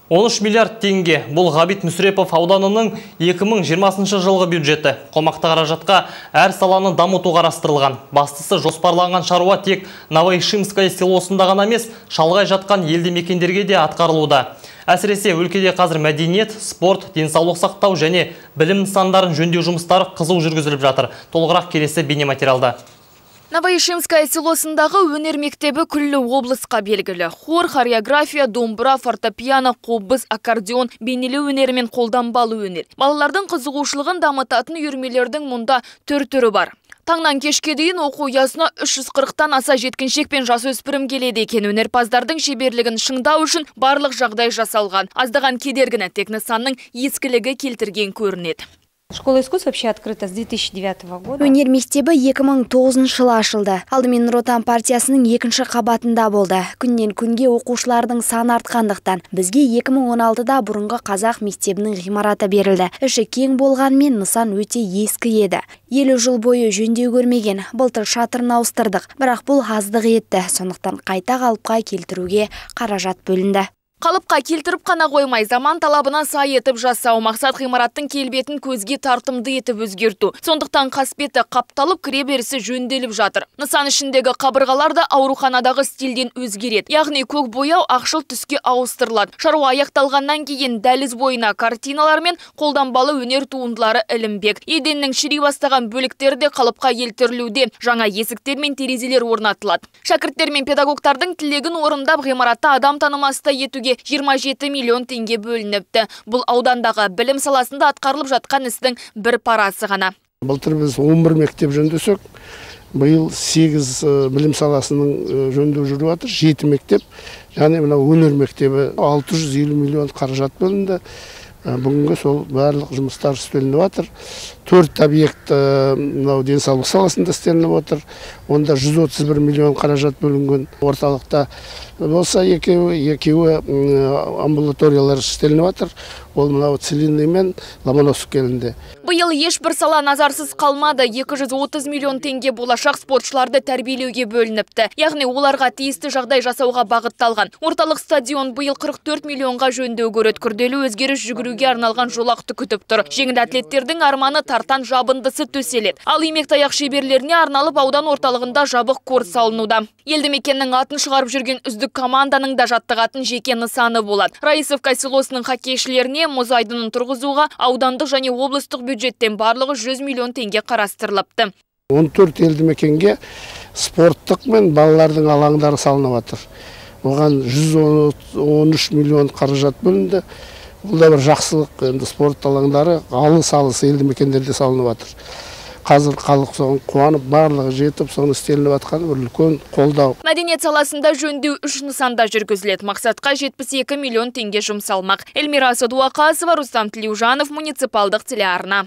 13 миллиард теңге. Бұл Ғабит Мүсірепов ауданының 2020 жылғы бюджеті. Қомақты қаражатқа әр саланы дамыту қарастырылған. Бастысы жоспарланған шаруа тек Новоишимское селосында ғана емес, шалғай жатқан елді мекендерге де атқарылуда. Әсіресе өлкеде қазір мәдениет, спорт, денсаулық сақтау және білім нысандарын жөндеу жұмыстары қызу жүргізіліп жатыр. Толығырақ келесі бейнематериалда. Новоишимское селосындағы өнер мектебі күллі облысқа белгілі. Хор, хореография, домбыра, фортепиано, қобыз, аккордеон, бейнелеу өнері мен қолданбалы өнер. Балалардың қызығушылығын дамытатын үйірмелердің мұнда түр-түрі бар. Таңнан кешке дейін оқу ұясына 340-тан аса жеткіншек пен жасөспірім келеді екен. Өнерпаздардың шеберлігін шыңдау үшін барлық жағдай жасалған. Аздаған кедергіні тек нысанның ескілігі келтірген көрінеді. Школа искусств вообще открыта с 2009 года. Өнер мектебі 2009 жылы ашылды. Алдымен Нұр Отан партиясының екінші қабатында болды. Күннен күнге оқушылардың саны артқандықтан бізге 2016-да бұрынғы қазақ мектебінің ғимараты берілді. Іші кең болғанмен нысан өте ескі еді. 50 жыл бойы жөндеу көрмеген. Былтыр шатырын ауыстырдық, бірақ бұл аздық етті. Сондықтан қайта қалыпқа келтіруге қаражат бөлінді. Қалыпқа келтіріп қана қоймай, заман талабына сай етіп жасау, мақсат ғимараттың келбетін көзге тартымды етіп өзгерту. Сондықтан қасбеті қапталып, кіреберісі жөнделіп жатыр. Нысан ішіндегі қабырғалар да ауруханадағы стильден өзгереді. Яғни көк бояу ақшыл түске ауыстырылады. Шаруа аяқталғаннан кейін дәліз бойына картиналар мен қолданбалы өнер туындылары ілінбек. Еденнің шіри бастаған бөліктері де қалыпқа келтірілуде. Жаңа есіктер мен терезелер орнатылады. Шәкірттер мен педагогтардың тілегін орындап, ғимаратта адам танымастай етуге 27 миллион теңге бөлініпті. Бұл аудандағы білім саласында атқарылып жатқан істің бір парасы ғана. Былтыр біз 11 мектеп жөндесек, биыл 8 білім саласының жөндеу жүріп жатыр, 7 мектеп, және өнер мектебі 650 миллион қаражат бөлінді. Бүгінгі сол барлық жұмыстар істелініп жатыр. 4 объект денсаулық саласында істелініп отыр. Онда 131 миллион қаражат бөлінген. Орталықта болса екеуі амбулаториялар істелініп жатыр. Ол Целинный мен Ломоносов келінде. Биыл ешбір сала назарсыз қалмады. 230 миллион теңге болашақ спортшыларды тәрбиелеуге бөлініпті. Яғни оларға тиісті жағдай жасауға бағытталған. Орталық стадион биыл 44 миллионға жөндеу көреді. Күрделі өзгеріс жүгіруге арналған жолақты күтіп тұр. Жеңіл атлеттердің арманы тартан жабындысы төселеді. Ал имек-таяқ шеберлеріне арналып аудан орталығында жабық кор салынуда. Елді мекеннің атын шығарып жүрген үздік команданың да жаттығатын жеке нысаны болады. Раисовка селосының хоккейшілеріне мұз айдынын тұрғызуға аудандық және облыстық бюджеттен барлығы 100 миллион теңге қарастырылыпты. 14 елді мекенге спорттық мен балалардың алаңдары салынып жатыр. Оған 113 миллион қаражат бөлінді. Бұл да бір жақсылық, енді спорт алаңдары алыс елді мекендерде салынып жатыр. Қазір халық соған қуанып, барлығы жетіп, соны істелініп жатқан үлкен қолдау. Мәдениет саласында жөндеу 3 нысанда жүргізіледі. Мақсатқа 72 миллион теңге жұмсалмақ. Эльмира Садуақасова, Рустам Тілеужанов, муниципалдық телеарна.